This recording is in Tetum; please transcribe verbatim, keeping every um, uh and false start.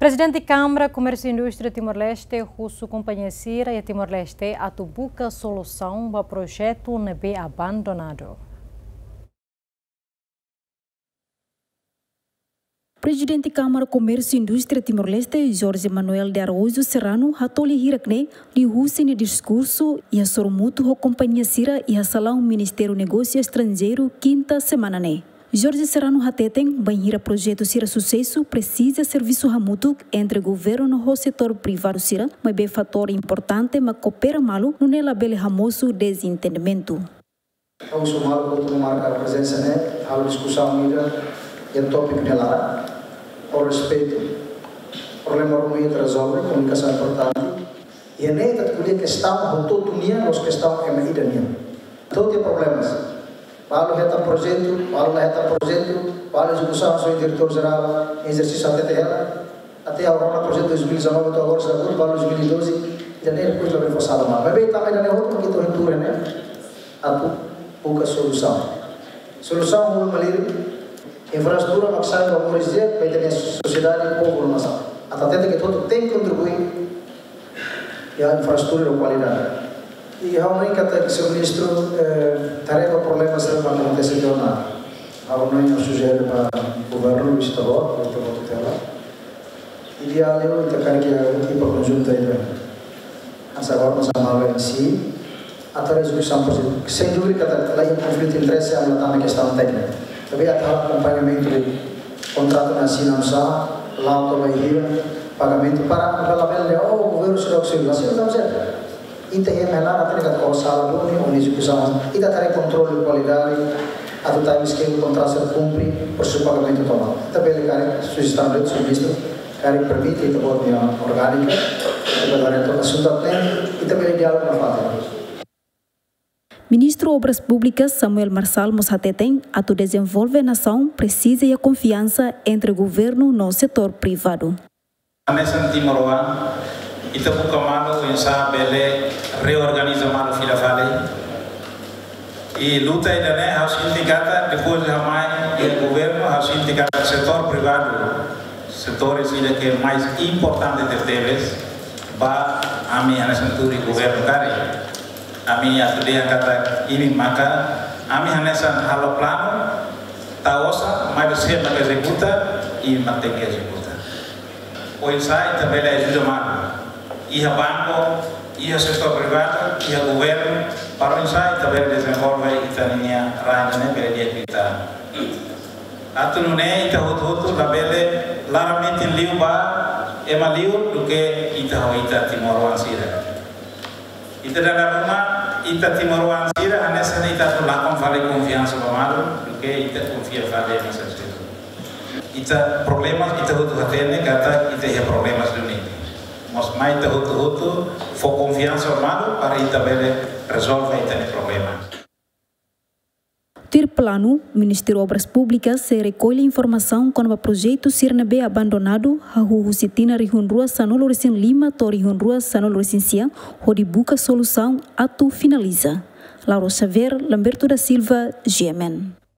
Prezidente Kámara Komérsiu Indústria Timor-Leste husu kompañia sira iha Timor-Leste atu buka solusaun ba projetu ne'ebé abandonadu. Prezidente Kámara Komérsiu Indústria Timor-Leste, Jorge Manuel de Araújo Serrano, hato'o iha hirak ne'e liuhusi nia diskursu iha sorumutu ho kompañia sira iha salaun Ministériu Negósiu Estranjeiru, kinta semana ne'e. Jorge Serrano hateten, bainhira projetu sira susesu, presiza servisu hamutuk entre governu ho setór privadu sira, maibé fatór importante mak koopera malu, nune'e labele hamosu dezentendimentu. Ha'u husu malu hotu mak marka prezensa ne'e, halo diskusaun ida iha tópiku ne'e laran. Ho respeitu, problema ruma ita rezolve, komunikasaun importante. Iha ne'e ita ko'alia kestaun hotu-hotu nian, la'ós kestaun ema ida nian. Todos têm problemas. Balu hetan projetu, balu la hetan projetu, balu ezekusaun, só diretór jerál ezersísiu hatete hela. Até agora, projetu dois mil e dezanove to'o agora, sira buka balu dois mil e doze, ida-ne'e depois labele fó sala mai. Maibé tanba ida-ne'e hotu mak ita hotu iha ne'e atu buka solusaun. Solusaun uluk malirin, infraestrutura mak sai ba moris di'ak ba ita-nia sosiedade, povu no nasaun. Atu hatete katak ita hotu tenke kontribui iha infraestrutura ho kualidade. I ha'u hanoin katak señór ministru, eh, haree ba problema sira mak akontese tiha ona. Ha'u hanoin, ha'u sujere ba governu, vizita boot, vizita boot tutela. Ideál liu ita karik iha ekipa konjunta ida. Hanesan agora mós ami halo em si, atu rezolve projetu. Sem dúvida katak la iha konflitu interese, ami la tama kestaun tékniku. Maibé atu halo akompañamentu, kontratu ne'e asina oinsá, la'o to'o bainhira, pagamentu para, para labele, oh, governu sira oksíliu, la sira tam sira. Ita iha hela atu hatene katak sala duni, ho ezekusaun. Ita haree kontrolu kualidade, atu time scale kontratu sira kumpre, prosesu pagamentu tomak. Ita bele karik sujestaun de'it, señór ministru, karik permite, ita-boot nia orgánika, ita bele haree to'o asuntu ne'e, ita bele diálogu nafatin. Ministru Obras Públikas Samuel Marçal mós hateten, atu dezenvolve nasaun presiza iha konfiansa entre governu no setór privadu. Hanesan timoroan, ita buka malu oinsá bele reorganiza malu fila fali. I luta ida-ne'e ha'u sente katak, depois de ha'u mai iha governu, ha'u sente katak setór privadu, setór sira ke mais importante tebetebes ba ami hanesan tuir governu karik. Ami atu dehan katak imi maka, ami hanesan halo planu, tau osan, maibé sé maka ezekuta, imi mak tenke ezekuta. Oinsá ita bele ajuda malu. Iha banku, iha setór privadu, iha governu, para oinsá ita bele dezenvolve ita-nia rain ne'e bele di'ak liután. Atu nune'e ita hotu-hotu labele laran-metin liu ba ema liur duké ita ho ita timoroan sira. Ita dada ruma, ita timoroan sira, hanesan ita atu lakon fali konfiansa ba malu, duké ita konfia fali ema sira. Ita problema, ita hotu hatene katak ita iha problema duni. Maibé ita hotu-hotu fó konfiansa ba malu para ita bele rezolve ita-nia problema. Tuir planu, Ministériu Obras Públikas sei rekolla informasaun kona-ba projetu sira ne'ebé abandonadu, hahú husi tinan rihun rua sanulu-resin-lima to'o rihun rua sanulu-resin-sia, hodi buka solusaun atu finaliza. Laura Xavier, Lamberto da Silva, G M N.